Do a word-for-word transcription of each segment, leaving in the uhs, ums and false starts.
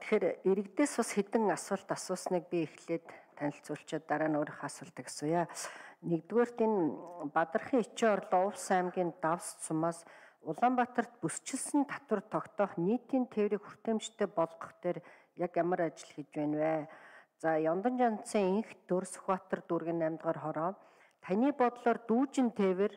тэгэхээр иргэдээс бас хэдэн асуулт асуусныг би эхлээд танилцуулчаад дараа нь өөрийнхөө асуултыг асууя. Нэгдүгээрт энэ Бадархан Ичийн орлоо Увс аймгийн Давс цумаас Улаанбаатарт бүсчилсэн татвар тогтоох нийтийн тээврийг хүртээмжтэй болгох дээр яг ямар ажил хийж байна вэ? За Яндан жанцын инх Дөр Сүхбаатар дүүргийн аймд дахь хороо таны бодлоор дүүжин тээвэр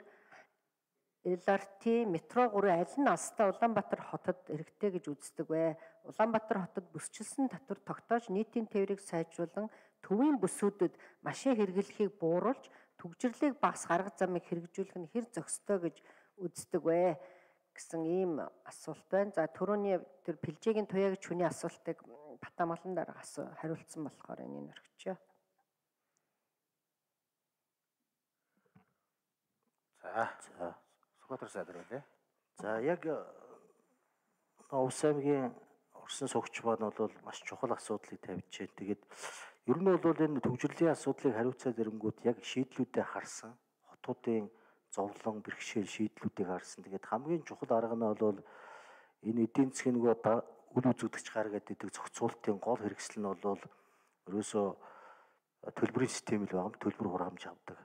эл ар ти метро гурван аль нь алстаа Улаанбаатар хотод эргэтэй гэж үздэг вэ? Улаанбаатар хотод бүсчилсэн татвар тогтоож нийтийн тээврийг сайжруулан төвийн бүсүүдэд машин хэрэглэхийг бууруулж түгжирлийг багас арга замыг хэрэгжүүлэх нь хэр зохистой гэж үздэг вэ гэсэн ийм асуулт байна. За түрүүний тэр Пилжигийн туяа гэж хүний асуултыг Батамгалан дараа хариулсан болохоор энийг орхичоо. За за Сүхбаатар сайдар байлаа. За яг Увс аймгийн орсон суугч маань бол маш чухал асуудлыг тавьж байна. Тэгээд ер нь бол энэ төвжирлийн асуудлыг хариуцаад ирэнгүүт яг шийдлүүдэд харсан хотуудын зовлон бэрхшээл шийдлүүдийг харсан. Тэгээд хамгийн чухал арга нь бол энэ эдийн засгийн нөгөө үл үзэгдэгч гар гэдэг зохицуултын гол хэрэгсэл нь бол ерөөсөө төлбөрийн систем л байгаа, төлбөр хураамж авдаг.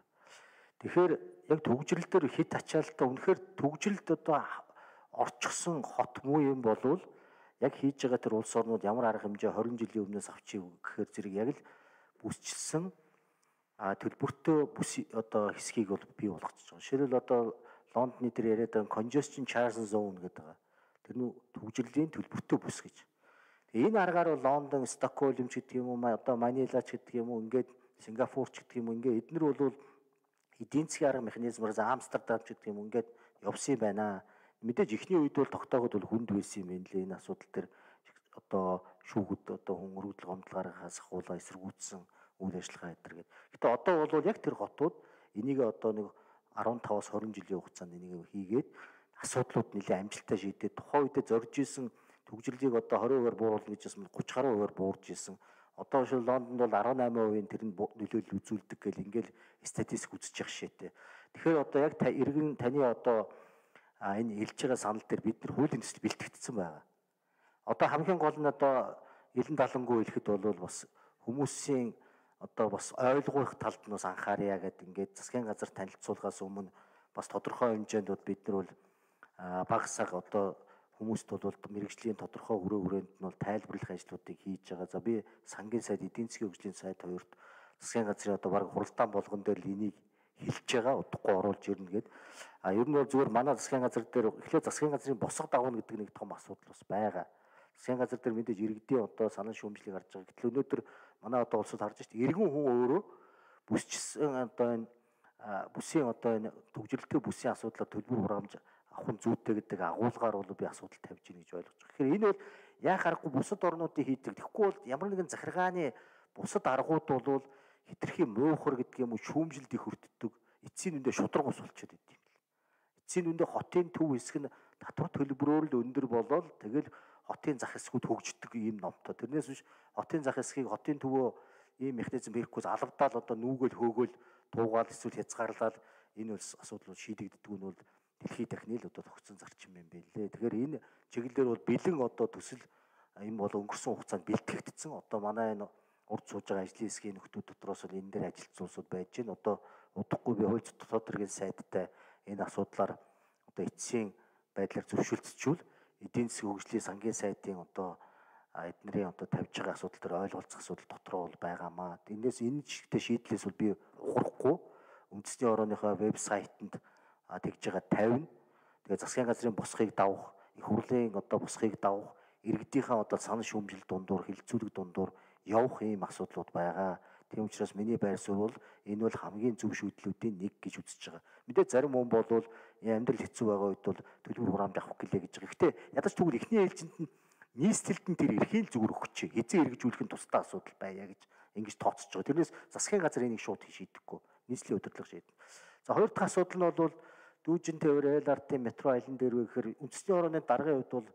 Тэгэхээр яг төгжрөл дээр хит ачаалтаа үнэхээр төгжрөлд одоо орчихсон хот муу юм болвол яг хийж байгаа тэр улс орнууд ямар арга хэмжээ хорин жилийн өмнөөс авчиг гэхээр зэрэг яг л бүсчилсэн а төлбөртөө бүс одоо хэсгийг бол бий болгочихж байгаа. Жишээлбэл одоо Лондонны дээр яриад байгаа congestion charge zone гэдэг байгаа. Тэр нь төгжрөлийн төлбөртөө бүс гэж. Энэ аргаар бол Лондон, Стокгольм ч гэдэг юм уу, одоо Манила ч гэдэг юм уу, ингээд Сингапур ч гэдэг юм уу, ингээд эднэр бол эдийн засгийн арга механизмаар за Амстердам ч гэдэг юм уу ингээд явсан юм байна. Мэдээж ихний үед бол тогтооход бол хүнд байсан юм байна лээ. Энэ асуудал төр одоо шүүгүүд одоо хүн өргөдөл гомдол гаргахаас ахуулаа эсэргүүцсэн үйл ажиллагаа эдэр гэдэг. Гэтэ одоо бол яг тэр хотууд энийг одоо нэг арван таваас хорин жилийн хугацаанд энийг хийгээд асуудлууд нэлээд амжилттай шийдээд тухайн үедээ зорж исэн төгжрлийг одоо двадцать хувиар бууруулна гэж байсан тридцать хувиар буурж исэн. Одоо шил Лондонд бол десять хувийн тэр нь нөлөөлөл үзүүлдэг гэл ингээл статистик үзэж явах шийтэй. Тэгэхээр одоо яг иргэн таны одоо энэ хэлж байгаа санал дээр бид нар хуулийн төсөл бэлтгэгдсэн байгаа. Одоо хамгийн гол нь одоо элен далангуй хэлэхэд бол бас хүмүүсийн одоо бас ойлгох талд нь бас анхаарья гэдэг ингээд засгийн газар танилцуулгаас өмнө бас тодорхой хэмжээнд бол бид нар бол багасаг одоо хүмүүст бол мэрэгжлийн тодорхой хүрээ хүрээнд нь бол тайлбарлах ажлуудыг хийж байгаа. За би сангийн сайд эдийн засгийн хөгжлийн сайд хоёрт засгийн газрын одоо баг хуралдаан болгон дээр л энийг хэлж байгаа, удахгүй оруулж ирнэ гэд. А ер нь бол зүгээр манай засгийн газар дээр эхлээд засгийн газрын босго дагуун гэдэг нэг том асуудал бас байгаа. Засгийн газар дээр мэдээж иргэдийн одоо санал шүүмжлийг харж байгаа. Гэтэл өнөөдөр манай одоо улсад харж байгаа чинь иргэн хүн өөрөө бүсчсэн одоо энэ бүсийн одоо энэ төгжрөлтэй бүсийн асуудлаар төлбөр хураамж авах нь зүйтэй гэдэг агуулгаар бол би асуудал тавьж ийн гэж ойлгож байгаа. Тэгэхээр энэ бол яах аргагүй бусад орнуудын хийдэг. Тэгэхгүй бол ямар нэгэн захиргааны бусад аргууд бол хитрхийн муухар гэдэг юм уу шүүмжилд их өртдөг. Эцсийн үндэ шудраг ус болчиход идэв юм. Эцсийн үндэ хотын төв хэсэг нь татвар төлбөрөөр л өндөр болоод тэгэл хотын зах хэсгүүд хөгждөг ийм номтой. Тэрнээс биш хотын зах хэсгийг хотын төвөө ийм механизм хийхгүйс алавдаал одоо нүгэл хөөгөл туугаал эсвэл хязгаарлал энэ бол асуудал шийдэгддэг нь бол дэлхийд дахны л одоо тогтсон зарчим юм байлээ. Тэгэхээр энэ чиглэлээр бол бэлэн одоо төсөл юм бол өнгөрсөн хугацаанд бэлтгэгдсэн. Одоо манай энэ урд сууж байгаа ажлын хэсгийн нөхдүүд дотроос бол энэ дээр ажилтсан улсууд байж байна. Одоо удахгүй би хууль дотоод хэргийн сайдтай энэ асуудлаар одоо эцсийн байдлаар зөвшөлдсчүүл эдийн засгийн хөгжлийн сангийн сайдын одоо эднэрийн одоо тавьж байгаа асуудал төр ойлголцох асуудал дотроо бол байгаамаа. Энээс энэ чигтээ шийдлээс бол би ухрахгүй үндэсний орооныхоо вебсайтанд тэгж байгаа тавина. Тэгээ засгийн газрын босхийг давах, их хурлын одоо босхийг давах, иргэдийнхээ одоо санал шүүмжил дундуур, хилцүүлэг дундуур явах ийм асуудлууд байгаа. Тийм учраас миний байр суурь бол энэ бол хамгийн зөв шийдлүүдийн нэг гэж үзэж байгаа. Мэдээ зарим хүн болвол амьдрал хэцүү байгаа үед бол төлбөр хураамж авах гэлээ гэж байгаа. Гэхдээ ядаж тэгвэл эхний ээлжинд нь нийслэлд нь тэр эрхийн зүгээр өгч эзэн эргэжүүлэх нь тусдаа асуудал байя гэж ингэж тооцож байгаа. Тэрнээс засгийн газар энийг шууд шийдэхгүй. Нийслэлийн удирдлага шийднэ. За хоёр дахь асуудал нь бол дүүжин тээвэр эл ар ти метро айлан дээр вэ гэхээр үндэсний орооны даргын хувьд бол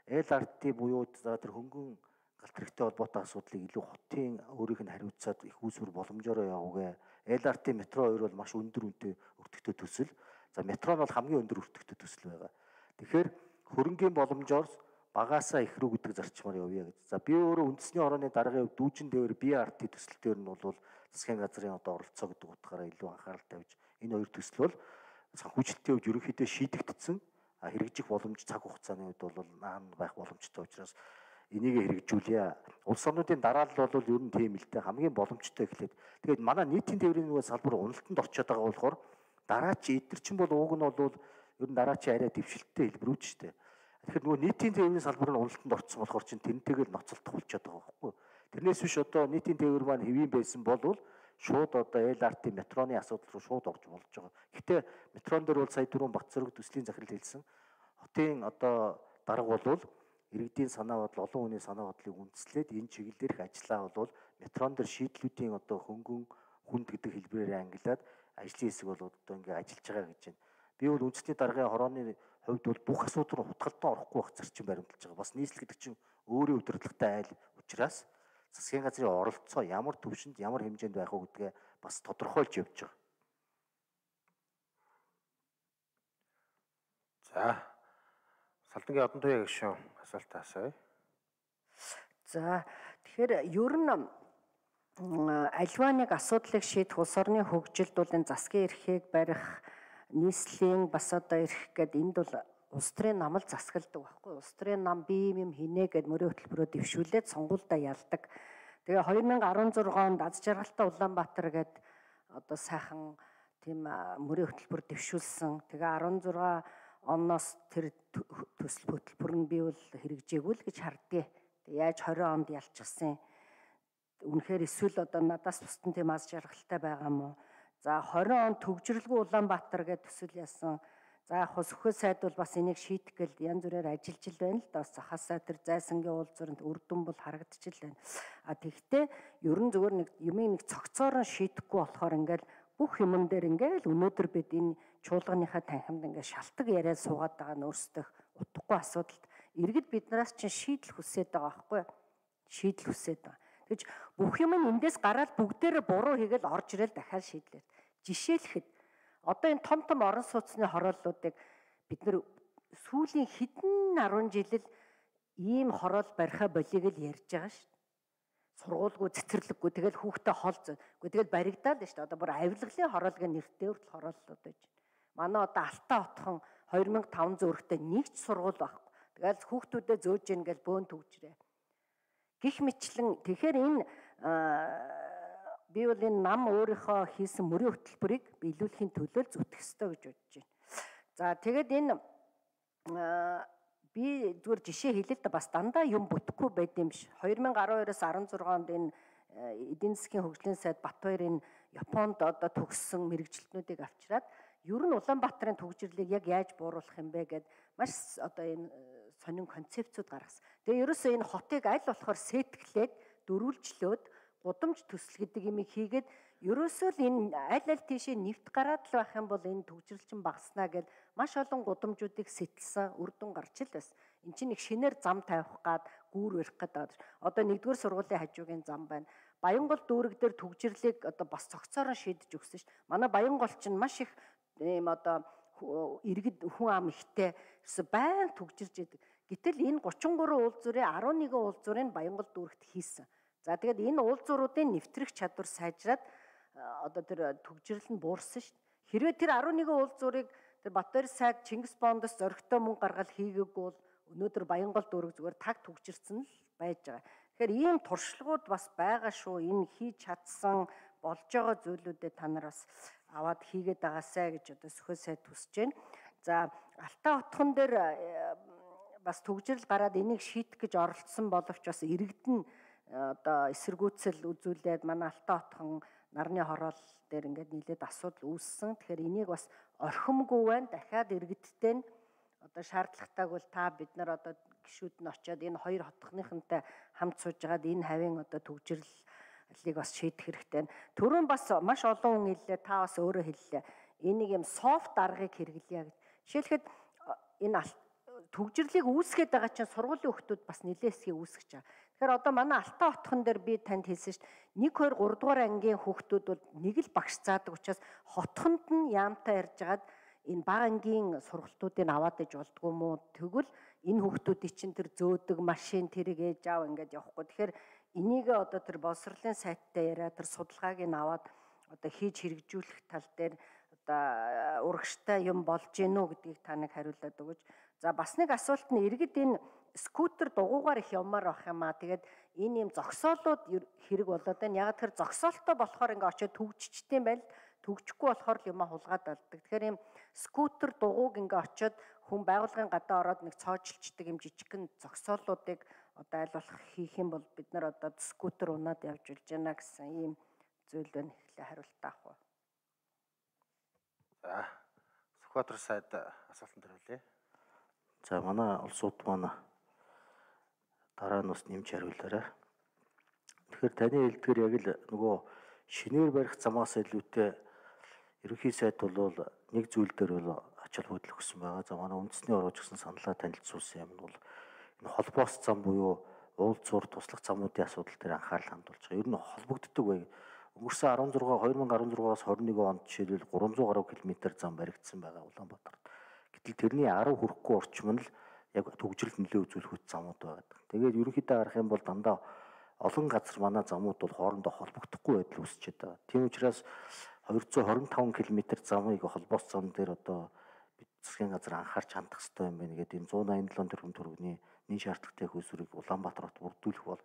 эл ар ти буюу за тэр хөнгөн галт хэрэгтэй холбоотой асуудлыг илүү хотын өөрийнх нь хариуцаад их үүсвэр боломжоор явуугээ. эл ар ти метро хоёр бол маш өндөр үнэтэй өртөгтэй төсөл. За метро нь бол хамгийн өндөр өртөгтэй төсөл байгаа. Тэгэхээр хөрөнгийн боломжоор багаасаа их рүү гэдэг зарчмаар явъя гэж. За би өөрөө үндэсний хорооны даргын хувьд дүүжин дээвэр би ар ти төсөл дээр нь бол засгийн газрын одоо оролцоо гэдэг утгаараа илүү анхаарал тавьж энэ хоёр төсөл бол санхүүжилтийн хувьд ерөнхийдөө шийдэгдсэн. А хэрэгжих боломж цаг хугацааны үед бол наан байх боломжтой учраас энийг хэрэгжүүлье. Улс орнуудын дараалал бол ер нь тийм л дээ хамгийн боломжтой эхлээд. Тэгээд манай нийтийн тээврийн нөгөө салбар уналтанд орчод байгаа болохоор дараачийн эдгэр чинь бол ууг нь бол ер нь дараачийн арай дэвшилттэй хэлбэрүүд шүү дээ. Тэгэхээр нөгөө нийтийн тээврийн салбар нь уналтанд орсон болохоор чинь тэрнтэйгээр ноцолдох болчиход байгаа байхгүй. Тэрнээс биш одоо нийтийн тээвэр маань хэвийн байсан бол шууд одоо эл ар ти метроны асуудал руу шууд орж болж байгаа. Гэхдээ метрон дээр бол сая түрүүн Батцэрэг төслийн захирал хэлсэн. Хотын одоо дарга бол иргэдийн санаа бодол, олон хүний санаа бодлыг үндэслээд энэ чиглэлээр ажиллаа бол метрон дээр шийдлүүдийн одоо хөнгөн хүнд гэдэг хэлбэрээр ангилаад ажлын хэсэг бол одоо ингээ ажиллаж байгаа гэж байна. Би бол үндэсний даргын хорооны хувьд бол бүх асуудал руу хутгалтан орохгүй байх зарчим баримталж байгаа. Бас нийслэл гэдэг чинь өөрийн удирдлагатай айл учраас засгийн газрын оролцоо ямар төвшөнд ямар хэмжээнд байх вэ гэдгээ бас тодорхойлж явж байгаа. За Салдангийн одон туяа гишүүн асуулт асууя. За тэгэхээр ер нь альва нэг асуудлыг шийдэх улс орны хөгжилд бол энэ засгийн эрхийг барих, нийслэлийн бас одоо эрх гэдэг энд бол улс төрийн намал засгалдаг байхгүй. Улс төрийн нам би юм хийнэ гэд мөрийн хөтөлбөрөөр дэвшүүлээд сонгуульдаа ялдаг. Тэгээ две тысячи дөрвөн онд аз жаргалтай Улаанбаатар гээд одоо сайхан тийм мөрийн хөтөлбөр дэвшүүлсэн. Тэгээ16 оноос тэр төсөл хөтөлбөр нь би бол хэрэгжээгүй л гэж хардгийг. Тэгээ яаж двадцать онд ялчихсан. Үнэхээр эсвэл одоо надаас бусдын тийм аз жаргалтай байгаа юм уу? За двадцать онд төгжрөлгүй Улаанбаатар гээд төсөл яасан. За яг хөө сөхөө сайд бол бас энийг шийдэх гэл янз бүрээр ажиллаж л байна л да. Бас захаасаа тэр зайсангийн уулзууранд үр дүн бол харагдчих л байна. А тэгвэл ер нь зүгээр нэг юмыг нэг цогцоор нь шийдэхгүй болохоор ингээл бүх юмн дээр ингээл өнөөдөр бид энэ чуулганыхаа танхимд ингээл шалтак яриад суугаад байгаа нь өөрсдөө утгагүй асуудалд иргэд биднээс чинь шийдэл хүсээд байгаа байхгүй шийдэл хүсээд байгаа. Тэгэж бүх юм нь эндээс гараад бүгдээрээ буруу хийгээл орж ирэл дахиад шийдлээ. Жишээлхэд одоо энэ том том орон сууцны хорооллуудыг бид нэр сүүлийн хэдэн арван жилэл ийм хороол бариха болиг л ярьж байгаа шүү дээ. Сургуулгүй цэцэрлэггүй тэгэл хүүхдээ хол зөөгүй тэгэл баригдаад шүү дээ. Одоо бүр авилгалын хороолгийн нэртэй хүртэл хорооллууд байж байна. Манай одоо Алтаа хотхон две тысячи пятнадцать зөрөгтэй нэг ч сургууль байхгүй. Тэгэл хүүхдүүдэд зөөж ийн гэл бөөн төгжрээ. Гэх мэтлэн тэгэхээр энэ би бол энэ нам өөрийнхөө хийсэн мөрийн хөтөлбөрийг биелүүлэхийн төлөө зүтгэх ёстой гэж бодож байна. За тэгээд энэ би зүгээр жишээ хэлээ л да бас дандаа юм бүтэхгүй байд юм биш. две тысячи twelve-оос16 онд энэ эдийн засгийн хөгжлийн сайд Батбаяр энэ Японд одоо төгссөн мэрэгжилтнүүдийг авчираад ер нь Улаанбаатарын төгжрлийг яг яаж бууруулах юм бэ гэд маш одоо энэ сонин концепцүүд гаргасан. Тэгээ ерөөсөө энэ хотыг аль болохоор сэтгэлээд дөрвөлжлөөд гудамж төсөл гэдэг юм хийгээд ерөөсөө л энэ аль аль тийшээ нэвт гараад л байх юм бол энэ төгжрэлчин багаснаа гэд маш олон гудамжуудыг сэтэлсэн үр дүн гарч ил байсан. Энд чинь нэг шинээр зам тавих гад гүүр барих гэдэг. Одоо нэгдүгээр сургуулийн хажуугийн зам байна. Баянгол дүүрэг дээр төгжрлийг одоо бас цогцоор нь шийдэж өгсөн шүү дээ. Манай Баянгол чинь маш их ийм одоо иргэд хүн ам ихтэй байн төгжирж идэг. Гэтэл энэ тридцать три уулзуурын eleven уулзуурыг Баянгол дүүрэгт хийсэн. За тэгээд энэ уулзууруудын нэвтрэх чадвар сайжраад одоо тэр төгжрөл нь буурсан шүү дээ. Хэрвээ тэр eleven уулзуурыг тэр Батбаяр сайд Чингис Бондоос зоригтой мөнгө гаргаад хийгээгүй бол өнөөдөр Баянгол дүүрэг зүгээр таг төгжирсэн л байж байгаа. Тэгэхээр ийм туршлагууд бас байгаа шүү. Энэ хийж чадсан болж байгаа зүйлүүдэд та нар бас аваад хийгээд байгаасай гэж одоо сөхөө сайд хүсэж байна. За Алтаа хотхон дээр бас төгжрөл гараад энийг шийдэх гэж оролцсон боловч бас иргэдэн одоо эсэргүүцэл үзүүлээд манай Алтаа хотхон нарны хороол дээр ингээд нийлээд асуудал үүссэн. Тэгэхээр энийг бас орхимгүй байна. Дахиад иргэдтэй нь одоо шаардлагатайг бол та бид нар одоо гишүүд нь очиод энэ хоёр хотхныхантай хамт сууж байгаад энэ хавийн одоо төгжрлийг бас шийдэх хэрэгтэй. Түрүүн бас маш олон хүн хэллээ, та бас өөрөө хэллээ. Энийг юм софт аргыг хэрэглэе гэж. Жишээлхэд энэ төгжрлийг үүсгэж байгаа чинь сургуулийн хүүхдүүд бас нэлээд хэсгийг үүсгэж байгаа. Тэгэхээр одоо манай Алтаа хотхон дээр би танд хэлсэн шүү дээ. one, two, three дугаар ангийн хүүхдүүд бол нэг л багш заадаг учраас хотхонд нь яамтай ярьж агаад энэ бага ангийн сургалтуудыг аваад иж болдгоо мó. Тэгвэл энэ хүүхдүүдийн чинь тэр зөөдөг машин тэрийг ээж аав ингээд явахгүй. Тэгэхээр энийг одоо тэр боловсролын сайттай яриа тэр судалгааг нь аваад одоо хийж хэрэгжүүлэх тал дээр одоо урагштай юм болж гинүү гэдгийг та нэг хариулаад өгөөч. За бас нэг асуулт нь иргэд энэ скутер дугуугаар их явмаар байх юм аа. Тэгээд энэ юм зогсоолууд хэрэг болоод байна. Яг тэр зогсоолтой болохоор ингээд очиод төгжчтэй байл. Төгжихгүй болохоор л юм хулгаад алддаг. Тэгэхээр ийм скутер дугууг ингээ очиод хүн байгууллагын гадаа ороод нэг цоожлцдаг юм жижигхэн зогсоолуудыг одоо аль болох хийх юм бол бид нар одоо скутер унаад явж улж байна гэсэн ийм зүйл байна. Эхлээ хариулт авах уу. За Сүхбаатар сайд асуултанд хариулъя. За манай улсууд манай дараа нь бас нэмж хариулаарай. Тэгэхээр таны хэлдгээр яг л нөгөө шинээр барих замаас илүүтэй ерөнхий сайд бол нэг зүйл дээр бол ач холбогдол өгсөн байгаа. За манай үндэсний орооч гэсэн саналаа танилцуулсан юм бол энэ холбоос зам буюу уулзуур туслах замуудын асуудал дээр анхаарал хандуулж байгаа. Ер нь холбогддог бай. Өнгөрсөн арван зургаа две тысячи арван зургаас двадцать нэг онд жишээлбэл триста гаруй км зам баригдсан байгаа Улаанбаатарт. Гэтэл тэрний десять хүрэхгүй орчим нь л яг төгжрөл нөлөө үзүүлэх үт замууд байгаа. Тэгээд ерөнхийдөө харах юм бол дандаа олон газар манай замууд бол хоорондоо холбогдохгүй байдал үүсчихэд байгаа. Тийм учраас двести двадцать пять км замыг холбоос зам дээр одоо бид засгийн газар анхаарч хандах хэрэгтэй юм байна гэдэг энэ one eighty seven тэрбум төгрөгийн нэн шаардлагатай хөлсрийг Улаанбаатарт бүрдүүлэх бол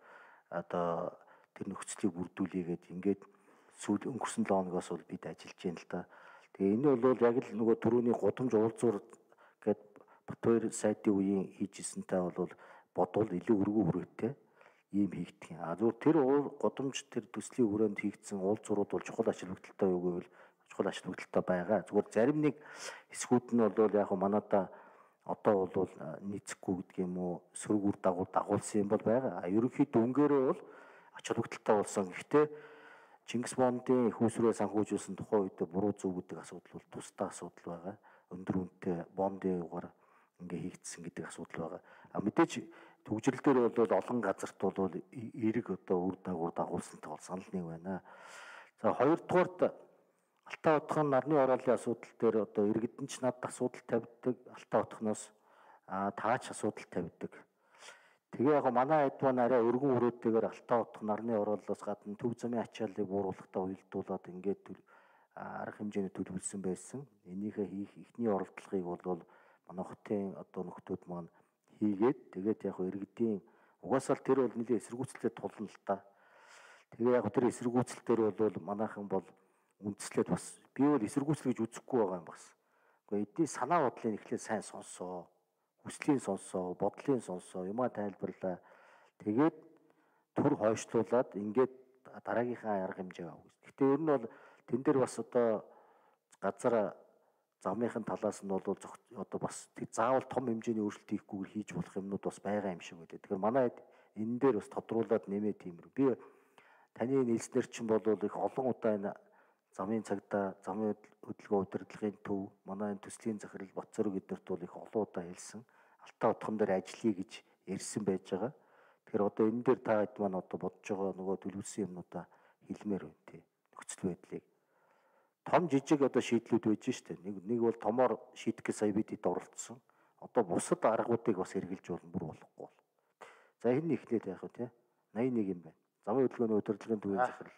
одоо тэр нөхцөлийг бүрдүүлээ гэдэг ингээд сүүл өнгөрсөн seven хоногоос бол бид ажиллаж байна л да. Тэгээ энэ бол яг л нөгөө түрүүний гудамж уулзуур гэд Батбаяр сайдын үеийн хийжсэнтэй бол бодвол илүү өргөө хүрээтэй ийм хийгдэх юм. А зүгээр тэр гудамж тэр төслийн хүрээнд хийгдсэн уулзуурууд бол чухал ач холбогдолтой юу гэвэл чухал ач холбогдолтой байгаа. Зүгээр зарим нэг хэсгүүд нь бол яг манайда одоо бол нийцэхгүй гэдэг юм уу сөрөг үр дагавар дагуулсан юм бол байгаа. А ерөнхийдөө өнгөөрөө бол ач холбогдолтой болсон. Гэхдээ Чингис Бондын хүүсрээ санхүүжүүлсэн тухайн үед буруу зөв гэдэг асуудал бол тусдаа асуудал байгаа. Өндөр үнэтэй бондын югаар ингээ хийгдсэн гэдэг асуудал байгаа. А мэдээж төгжрөл дээр бол олон газарт бол эрг одоо үр дагавар дагуулсантай бол санал нэг байна. За хоёрдугаарт Алтай утгын нарны ороолын асуудал дээр одоо иргэдэн ч надад асуудал тавьдаг, Алтай утгноос а таач асуудал тавьдаг. Тэгээ яг манай хэд маань арай өргөн хүрээтэйгээр Алтай утга нарны ороолоос гадна төв замын ачааллыг бууруулахдаа уялдуулаад ингээд арга хэмжээний төлөвлөсөн байсан. Энийхээ хийх эхний оролдлогыг бол манай хотын одоо нөхдүүд маань хийгээд тэгээд яг иргэдийн угаасаа тэр бол нэлийн эсэргүүцэлтэй тулна л та. Тэгээ яг тэр эсэргүүцэл дээр бол манайхан бол үндэслээд бас би бол эсэргүүцэл гэж үзэхгүй байгаа юм бас. Гэхдээ эдний санаа бодлыг эхлээд сайн сонссоо, хүслийн сонссоо, бодлын сонссоо, юмаа тайлбарлаа. Тэгээд түр хойшлуулад ингээд дараагийнхаа арга хэмжээ авах. Гэхдээ ер нь бол тэн дээр бас одоо газар замынхын талаас нь бол одоо бас заавал том хэмжээний өөрчлөлт хийхгүйгээр хийж болох юмнууд бас байгаа юм шиг байлаа. Тэгэхээр манай энэ дээр бас тодруулаад нэмээ тиймэр. Би таны нийлснэр чинь бол их олон удаа энэ замын цагдаа, замын хөдөлгөөн удирдлагын төв, манай энэ төслийн захирал Батцорог эднэрт бол их олон удаа хэлсэн. Алтай утган дээр ажиллая гэж ярьсан байж байгаа. Тэгэхээр одоо энэ дээр та хэд маань одоо бодож байгаа нөгөө төлөвлөсөн юмнуудаа хэлмээр байна тий. Нөхцөл байдлыг том жижиг одоо шийдлүүд байж штэ. Нэг нэг бол томоор шийдэх гэж сая бид хэд оролцсон. Одоо бусад аргуудыг бас хэрэгжилж болно бүр болохгүй бол. За энэ ихлээд яах вэ тий? eighty-one юм байна. Замын хөдөлгөөний удирдлагын төвийн захирал.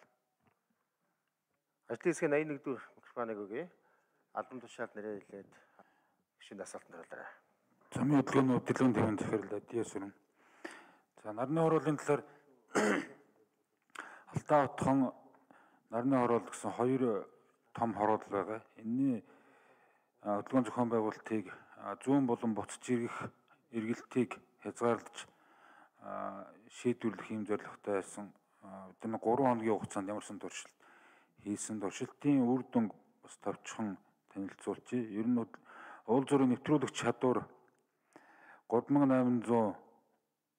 Ажлын хэсгийн eighty-one дэх микрофоныг өгье. Албан тушаалд нэрээ хэлээд шинэ асуултанд хариулаарай. Замын хөдөлгөөний удирдлагын төвийн захирал Адиас өрн. За нарны хорооллын талаар Алтай утхан нарны хороол гэсэн хоёр том хороол байгаа. Энэний хөдөлгөөн зохион байгуулалтыг зүүн болон буцаж ирэх эргэлтийг хязгаарлаж шийдвэрлэх юм зорилготой байсан. Бид нэг гурван хоногийн хугацаанд ямарсан туршилт хийсэн. Туршилтын үр дүн бас товчхон танилцуулчих. Ер нь уулзуурын нэвтрүүлэх чадвар three thousand eight hundred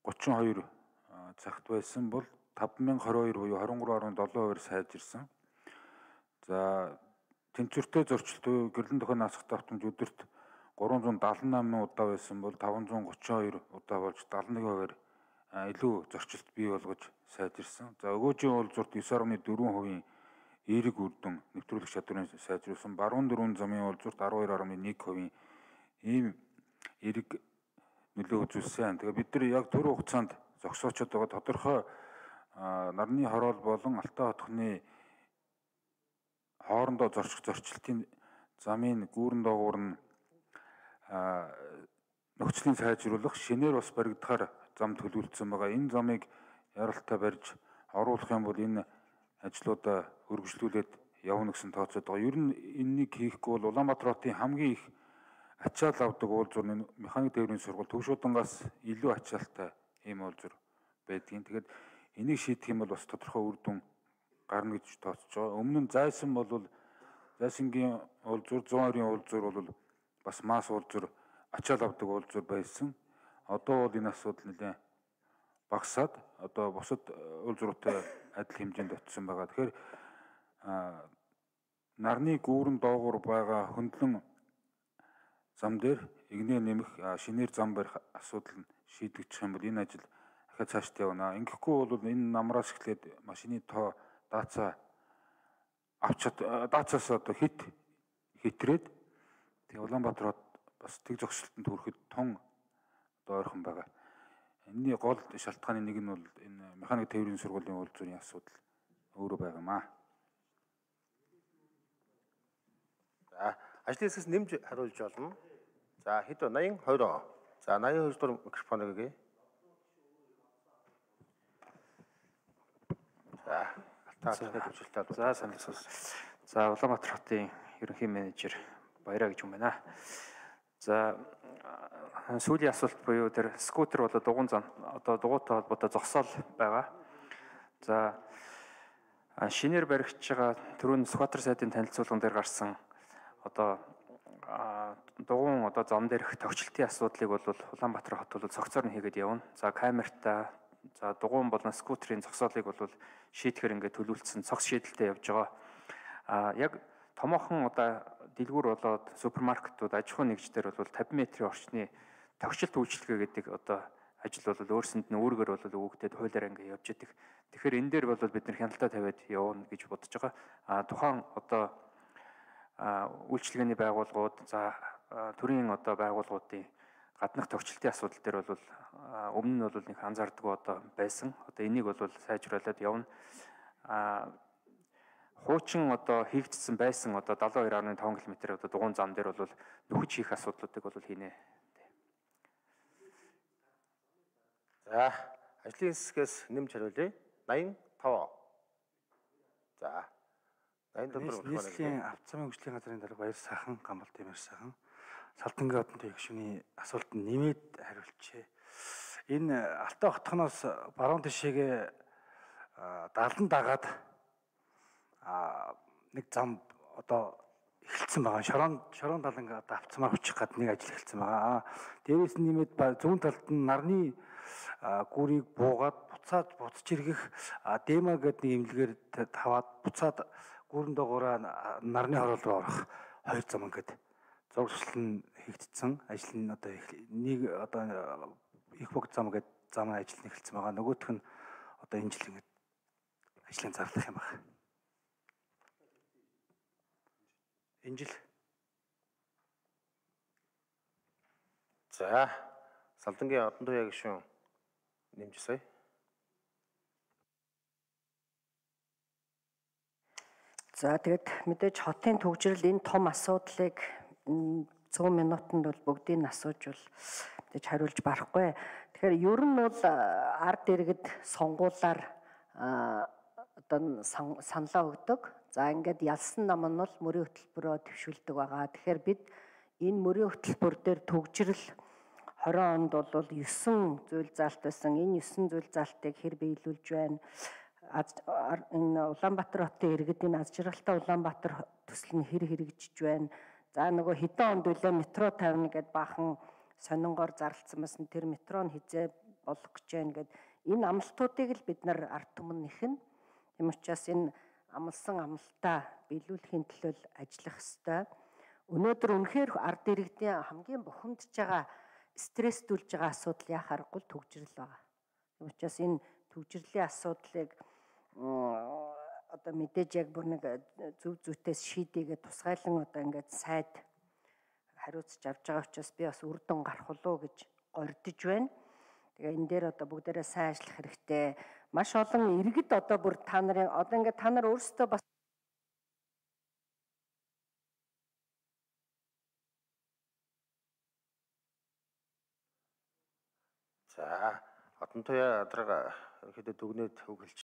thirty-two цагт байсан бол five thousand twenty-two буюу twenty-three point seven percent сайжирсан. За тэнцвэртэй зорчилт буюу гэрлэн дохойн наасах давтамж өдөрт three hundred seventy-eight удаа байсан бол five hundred thirty-two удаа болж seventy-one percent илүү зорчилт бий болгож сайжирсан. За өгөөжийн уулзуурт nine point four percent эерэг үр дүн нэвтрүүлэх чадварын сайжруулсан. Баруун дөрвөн замын уулзуурт twelve point one percent ийм эерэг нөлөө үзүүлсэн. Тэгээ бид нар яг түрүү хугацаанд зогсоочод байгаа тодорхой нарны хороол болон Алтай хотхны хоорондоо зорчих зорчлтын замын гүүрэн доогуур нь нөхцөлийн сайжруулах шинээр бас баригдахаар зам төлөвлөсөн байгаа. Энэ замыг яралтай барьж оруулах юм бол энэ ажлуудаа өргөжлүүлээд явна гэсэн тооцоод байгаа. Ер нь энэнийг хийхгүй бол Улаанбаатар хотын хамгийн их ачаал авдаг уулзуурны механик тээврийн сургууль Төвшүүдангаас илүү ачаалтай ийм уулзуур байдгийн. Тэгэхээр энийг шийдэх юм бол бас тодорхой үр дүн гарна гэж тооцож байгаа. Өмнө нь зайсан бол зайсангийн уулзуур, зүүн ойрын уулзуур бол бас мас уулзуур ачаал авдаг уулзуур байсан. Одоо бол энэ асуудал нэлээд багасаад одоо бусад уулзууртай адил хэмжээнд очсон байгаа. Тэгэхээр нарны гүүрэн доогуур байгаа хөндлөн зам дээр игнээ нэмэх шинээр зам барих асуудал нь шийдэгдэх юм бол энэ ажил дахиад цаашд явна. Ингэхгүй бол энэ намраас эхлээд машины тоо даацаа авч даацаас одоо хит хитрээд тэгээ Улаанбаатар хот бас тэг зогсолтод хүрэхэд тун одоо ойрхон байгаа. Энэний гол шалтгааны нэг нь бол энэ механик тээврийн сургуулийн уулзуурын асуудал өөрөө байгаамаа. За, ажлын хэсгээс нэмж хариулж болно. За, хэд вэ? восемьдесят, двадцать. За, восемьдесят хоёр дахь микрофоныг өгье. За, алтаа хөвчлөлтэй бол. За, саналсаа. За, Улаанбаатар хотын ерөнхий менежер Баяраа гэж юм байна. За, сүүлийн асуулт буюу тэр скутер болоод дугуйн зам одоо дугуйтай холбоотой зогсоол байгаа. За, шинээр баригдж байгаа түрүүн Сүхбаатар сайдын танилцуулган дээр гарсан одоо дугуйн одоо зам дээрх товчлтын асуудлыг бол Улаанбаатар хот бол цогцоор нь хийгээд явна. За, камертаа за дугуйн болон скутерийн зогсоолыг бол шийдэхээр ингээд төлөвлөсөн цогц шийдэлтэй явж байгаа. А яг томоохон одоо дэлгүүр болоод супермаркетууд аж ахуйн нэгжлэр бол тавин метрийн орчны тогтчлт үйлчилгээ гэдэг одоо ажил бол өөрсөнд нь үүргээр бол өгөгдөд хуулиар ингээд явж идэг. Тэгэхээр энэ дээр бол бид нэр хяналтаа тавиад явна гэж бодож байгаа. А тухайн одоо үйлчилгээний байгууллагууд за төрийн одоо байгууллагуудын гаднах тогтчлтын асуудал дээр бол өмнө нь бол нэг анзаардаг одоо байсан. Одоо энийг бол сайжруулад явна. А хуучин одоо хийгдсэн байсан одоо далайн хоёр дашик таван км одоо дугуйн зам дээр бол нөхөж хийх асуудлуудыг бол хийнэ. За, ажлын хэсгээс нэмж хариулъя. восемьдесят пять. За. восемьдесят пять нийслэлийн автозамын хөгжлийн газрын дарга Баяр сайхан, Гамбал Тэмэр сайхан Салдангийн одонтой гишүүний асуултанд нэмээд хариулчихъя. Энэ Алтай хотхоноос баруун тишээгээ далан дагаад нэг зам одоо эхэлсэн байгаа. Шорон шорон даланг одоо авцмаар хүчих гад нэг ажил эхэлсэн байгаа. Дээрээс нь нэмээд зүүн талд нь нарны гүрийг буугаад буцаад буцаж иргэх дема гэдэг нэг имлэгээр таваад буцаад гүүрэн доогоороо нарны хороол руу орох хоёр зам ингээд зургал нь хийгдсэн. Ажил нь одоо нэг одоо их бог зам гэдэг зам ажил нь эхэлсэн байгаа. Нөгөөх нь одоо энэ жил ингээд ажлын зарлах юм байна. Энэ жил. За, Салдангийн одон туяа гишүүн нэмжсэй. За тэгээд мэдээж хотын төвжирэл энэ том асуудлыг цөөн минутанд бол бүгдийг нь асууж бол мэдээж хариулж барахгүй. Тэгэхээр ер нь бол ард иргэд сонгуулаар одоо саналаа өгдөг. За ингээд ялсан нам нь бол мөрийн хөтөлбөрөөр төвшүүлдэг байгаа. Тэгэхээр бид энэ мөрийн хөтөлбөр дээр төвжирэл двадцать онд бол девять зүйл заалт байсан. Энэ девять зүйл заалтыг хэр биелүүлж байна? Энэ Улаанбаатар хотын иргэдийн аз жаргалтай Улаанбаатар төсөл нь хэр хэрэгжиж байна? За нөгөө хэдэн онд үлээ метро тавина гэд баахан сонингоор зарлцсан байсан. Тэр метро нь хизээ болох гэж байна гэд энэ амлалтуудыг л бид нар ард түмэн нэхэн. Тийм учраас энэ амлсан амлалтаа биелүүлэхийн төлөө ажиллах ёстой. Өнөөдөр үнэхээр ард иргэдийн хамгийн бухимдж байгаа стресстүүлж байгаа асуудал яа харахгүй төгжрөл байгаа. Тийм учраас энэ төгжрлийн асуудлыг одоо мэдээж яг бүр нэг зөв зүйтээс шийдээгээ тусгайлан одоо ингээд сайд хариуцж авч байгаа учраас би бас үр дүн гарах болов гэж гордож байна. Тэгээ энэ дээр одоо бүгдээрээ сайн ажиллах хэрэгтэй. Маш олон иргэд одоо бүр та нарын одоо ингээд та нар өөрсдөө бас За, Одон туяа дарга ерөнхийдөө дүгнээд үг хэлж